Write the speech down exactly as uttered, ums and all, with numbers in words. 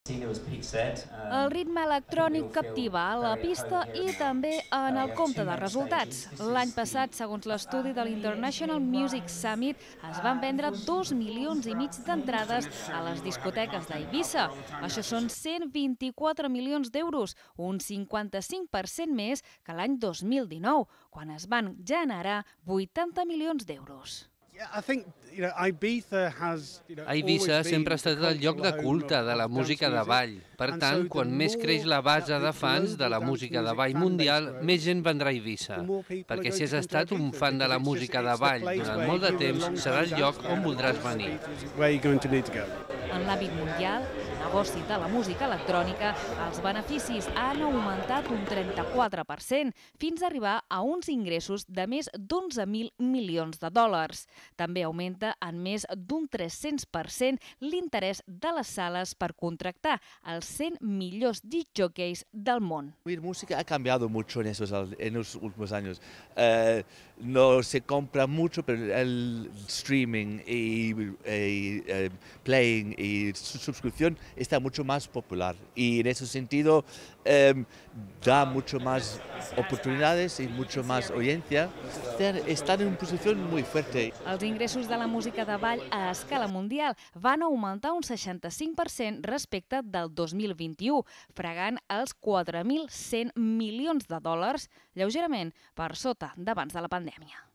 El ritme electrònic captiva a la pista i també en el compte de resultats. L'any passat, segons l'estudi de l'International Music Summit, es van vendre dos milions i mig d'entrades a les discoteques d'Eivissa. Això són cent vint-i-quatre milions d'euros, un cinquanta-cinc per cent més que l'any dos mil dinou, quan es van generar vuitanta milions d'euros. Eivissa sempre ha estat el lloc de culte de la música de ball. Per tant, quan més creix la base de fans de la música de ball mundial, més gent vendrà a Eivissa. Perquè si has estat un fan de la música de ball durant molt de temps, serà el lloc on voldràs venir. En l'àmbit mundial, el negoci de la música electrònica, els beneficis han augmentat un trenta-quatre per cent, fins a arribar a uns ingressos de més d'onze mil milions de dòlars. També augmenta en més d'un tres-cents per cent l'interès de les sales per contractar els cent millors disc jockeys del món. La música ha cambiado mucho en, esos, en los últimos años. Uh, no se compra mucho, pero el streaming y, y uh, playing y su suscripción está mucho más popular. Y en ese sentido um, da mucho más oportunidades y mucho más audiencia. Están en una posición muy fuerte. Els ingressos de la música de ball a escala mundial van augmentar un seixanta-cinc per cent respecte del dos mil vint-i-u, fregant els quatre mil cent milions de dòlars, lleugerament per sota d'abans de la pandèmia.